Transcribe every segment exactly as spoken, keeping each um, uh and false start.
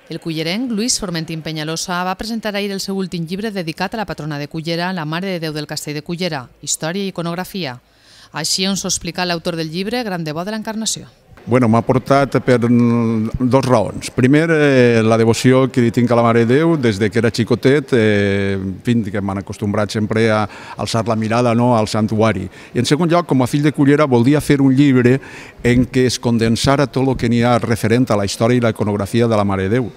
El cullerenc Lluís Formentín Peñalosa va presentar ahir el seu últim llibre dedicat a la patrona de Cullera, la Mare de Déu del Castell de Cullera, Història i Iconografia. Així ens ho explica l'autor del llibre, gran devot de l'Encarnació. Bueno, m'ha portat per dos raons. Primer, eh, la devoció que li tinc a la Mare de Déu des de que era xicotet, eh, fins que m'han acostumbrat sempre a alçar la mirada, no, al santuari. I en segon lloc, com a fill de Cullera, volia fer un llibre en què es condensara tot el que n'hi ha referent a la història i la iconografia de la Mare de Déu.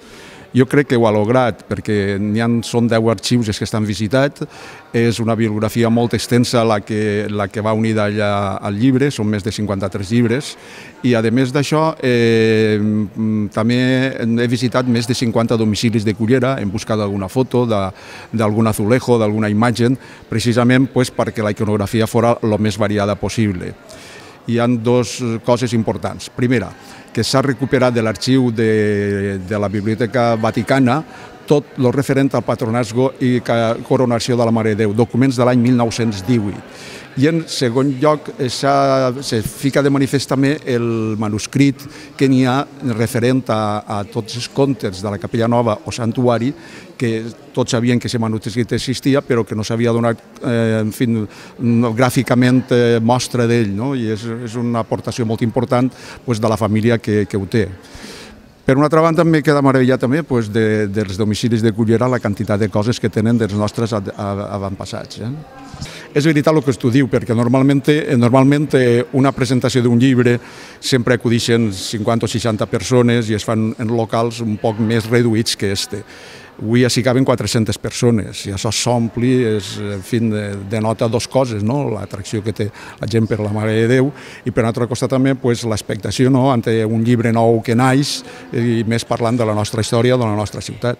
Jo crec que ho ha lograt, perquè n'hi ha, són deu arxius que estan visitats, és una bibliografia molt extensa la que, la que va unida allà al llibre, són més de cinquanta-tres llibres, i a més d'això eh, també he visitat més de cinquanta domicilis de Cullera, hem buscat alguna foto d'algun azulejo, d'alguna imatge, precisament pues, perquè la iconografia fora el més variada possible. Hi ha dues coses importants. Primera, que s'ha recuperat de l'arxiu de, de la Biblioteca Vaticana tot el referent al patronatge i coronació de la Mare de Déu, documents de l'any mil nou-cents divuit. I en segon lloc se fica de manifest també el manuscrit que n'hi ha referent a, a tots els contes de la Capella Nova o Santuari, que tots sabien que aquest manuscrit existia, però que no s'havia donat eh, en fi, gràficament eh, mostra d'ell, no? I és, és una aportació molt important pues, de la família que, que ho té. Per una altra banda, m'he quedat meravellat també pues, de, dels domicilis de Cullera, la quantitat de coses que tenen dels nostres avantpassats. Eh? És veritat el que tu diu, perquè normalment, normalment una presentació d'un llibre sempre acudixen cinquanta o seixanta persones i es fan en locals un poc més reduïts que este. Avui ja s'hi caben quatre-centes persones i això s'ompli, en fi, denota dues coses, no? L'atracció que té la gent per la Mare de Déu i per l'altre costat també pues, l'expectació no? Ante un llibre nou que naix i més parlant de la nostra història, de la nostra ciutat.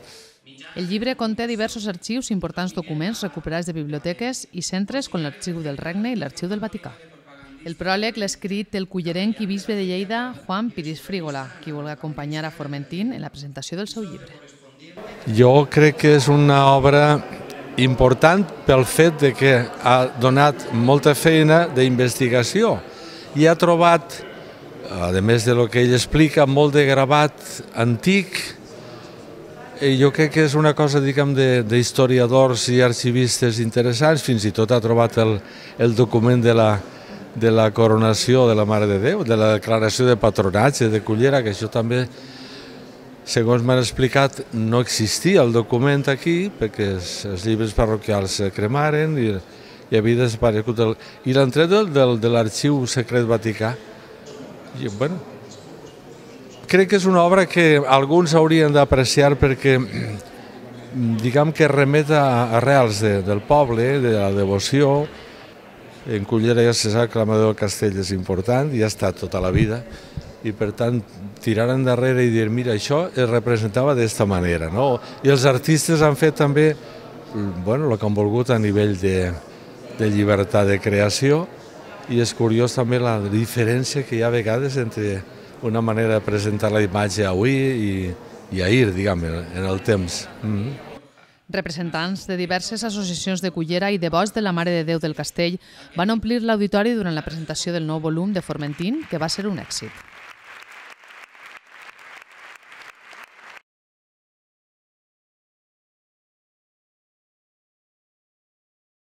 El llibre conté diversos arxius i importants documents recuperats de biblioteques i centres com l'Arxiu del Regne i l'Arxiu del Vaticà. El pròleg l'ha escrit el cullerenc i bisbe de Lleida, Juan Piris Frígola, qui vol acompanyar a Formentín en la presentació del seu llibre. Jo crec que és una obra important pel fet de que ha donat molta feina d'investigació i ha trobat, a més de lo que ell explica, molt de gravat antic. I jo crec que és una cosa, diguem, d'historiadors i arxivistes interessants. Fins i tot ha trobat el, el document de la, de la coronació de la Mare de Déu, de la declaració de patronatge de Cullera, que això també, segons m'han explicat, no existia el document aquí, perquè els, els llibres parroquials se cremaren i, i havia desaparegut. El, I l'entret del, del, de l'Arxiu Secret Vaticà. I, bueno, crec que és una obra que alguns haurien d'apreciar perquè, diguem que remet a arrels de, del poble, de la devoció. En Cullera ja se sap que la Mare del Castell és important i ha estat tota la vida. I per tant, tirar endarrere i dir, mira, això es representava d'esta manera, no? I els artistes han fet també, bueno, el que han volgut a nivell de, de llibertat de creació i és curiós també la diferència que hi ha a vegades entre una manera de presentar la imatge avui i, i ahir, diguem, en el temps. Mm-hmm. Representants de diverses associacions de Cullera i devots de la Mare de Déu del Castell van omplir l'auditori durant la presentació del nou volum de Formentín, que va ser un èxit.